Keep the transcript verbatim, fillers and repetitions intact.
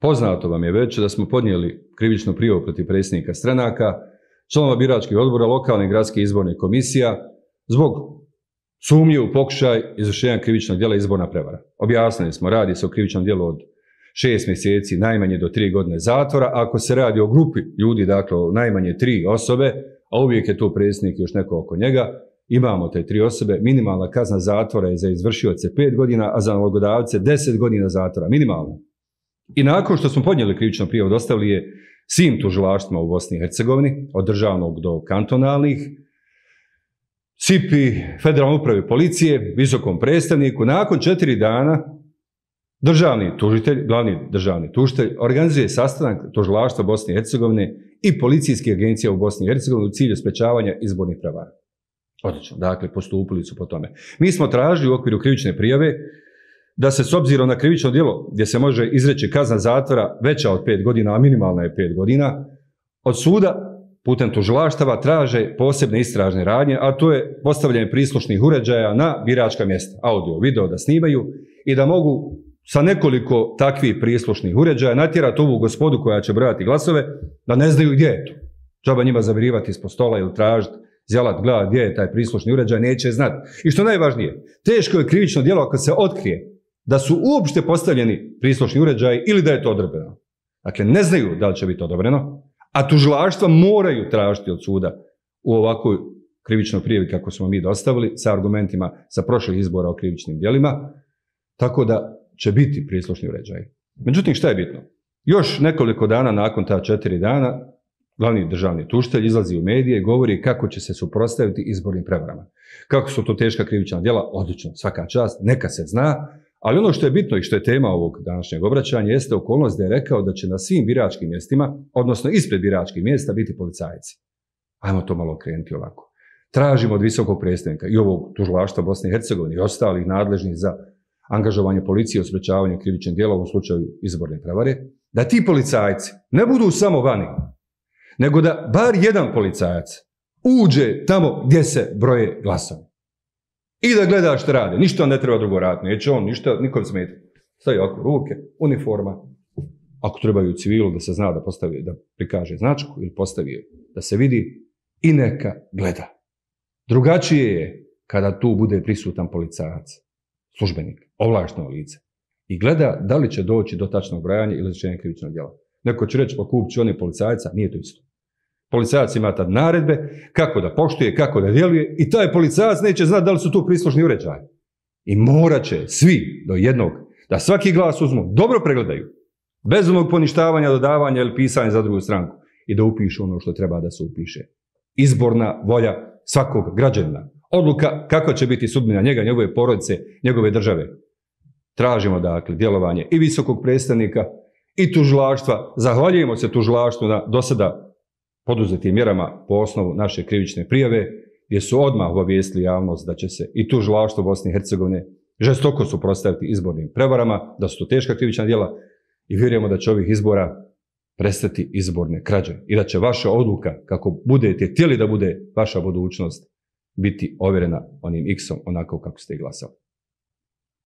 Poznato vam je već da smo podnijeli krivičnu prijavu protiv predsjednika stranaka, članova biračkih odbora, lokalne i gradske izborne komisija zbog sumnje u pokušaj izvršenja krivičnog djela izborna prevara. Objasnili smo, radi se o krivičnom djelu od šest mjeseci, najmanje do tri godine zatvora. Ako se radi o grupi ljudi, dakle o najmanje tri osobe, a uvijek je tu predsjednik i još neko oko njega, imamo te tri osobe, minimalna kazna zatvora je za izvršioce pet godina, a za nalogodavce deset godina zatvora, minimalno. I nakon što smo podnijeli krivičnu prijavu, dostavili je svim tužilaštvima u Bosni i Hercegovini, od državnog do kantonalnih, S I P I, Federalnoj upravi policije, visokom predstavniku. Nakon četiri dana državni tužitelj, glavni državni tužitelj, organizuje sastanak tužilaštva Bosne i Hercegovine i policijskih agencija u Bosni i Hercegovini u cilju sprečavanja izbornih prevara. Odlično, dakle, postupili su po tome. Mi smo tražili u okviru krivične prijave da se s obzirom na krivično djelo gdje se može izreći kazna zatvora veća od pet godina, a minimalna je pet godina, od suda putem tužilaštava traže posebne istražne radnje, a to je postavljanje prislušnih uređaja na biračka mjesta, audio, video da snimaju i da mogu sa nekoliko takvih prislušnih uređaja natjerati ovu gospodu koja će brojati glasove da ne znaju gdje je to. Džaba njima zavirivati ispod stola ili tražiti, zjelat, gledati gdje je taj prislušni uređaj, neće znati. I što najvažnije, teško je krivično djelo ako se otkrije da su uopšte postavljeni prislušni uređaji ili da je to odobreno. Dakle, ne znaju da li će biti odobreno, a tužilaštva moraju tražiti od suda u ovakvoj krivičnoj prijavi kako smo mi dostavili sa argumentima sa prošlih izbora o krivičnim djelima, tako da će biti prislušni uređaji. Međutim, šta je bitno? Još nekoliko dana nakon ta četiri dana, glavni državni tužitelj izlazi u medije i govori kako će se suprotstaviti izbornim prevarama. Kako su to teška krivična djela? Odlično, svaka čast, neka se zna, ali ono što je bitno i što je tema ovog današnjeg obraćanja jeste okolnost da je rekao da će na svim biračkim mjestima, odnosno ispred biračkih mjesta, biti policajci. Ajmo to malo krenuti ovako. Tražimo od visokog predstavnika i ovog tužilaštva Bosne i Hercegovine i ostalih nadležnih za angažovanje policije u sprečavanju krivičnih djela u slučaju izborne prevare, da ti policajci ne budu samo vani, nego da bar jedan policajac uđe tamo gdje se broje glasovi. I da gleda što rade. Ništa ne treba drugo raditi. Neće on ništa, nikom smeta. Stavi ovako ruke, uniforma. Ako trebaju u civilu da se zna da postavi, da prikaže značku ili postavi da se vidi i neka gleda. Drugačije je kada tu bude prisutan policajac, službenik, ovlašteno lice. I gleda da li će doći do tačnog brojanja ili izvršenja krivičnog djela. Neko će reći pa kupit ću one policajca, nije to isto. Policajac ima tad naredbe kako da poštuje, kako da djeluje i taj policajac neće znati da li su tu prislušni uređaji. I morat će svi do jednog da svaki glas uzmu, dobro pregledaju, bez onog poništavanja, dodavanja ili pisanja za drugu stranku i da upišu ono što treba da se upiše. Izborna volja svakog građanina. Odluka kako će biti sudbina njega, njegove porodice, njegove države. Tražimo dakle djelovanje i visokog predstavnika i tužilaštva. Zahvaljujemo se tužilaštvu na do sada poduzetim mjerama po osnovu naše krivične prijave, gdje su odmah obavijestili javnost da će se i tužilaštvo Bosne i Hercegovine žestoko suprotstaviti izbornim prevarama, da su to teška krivična djela i vjerujemo da će ovih izbora prestati izborne krađe i da će vaša odluka, kako budete htjeli da bude vaša budućnost, biti ovjerena onim iksom onako kako ste i glasali.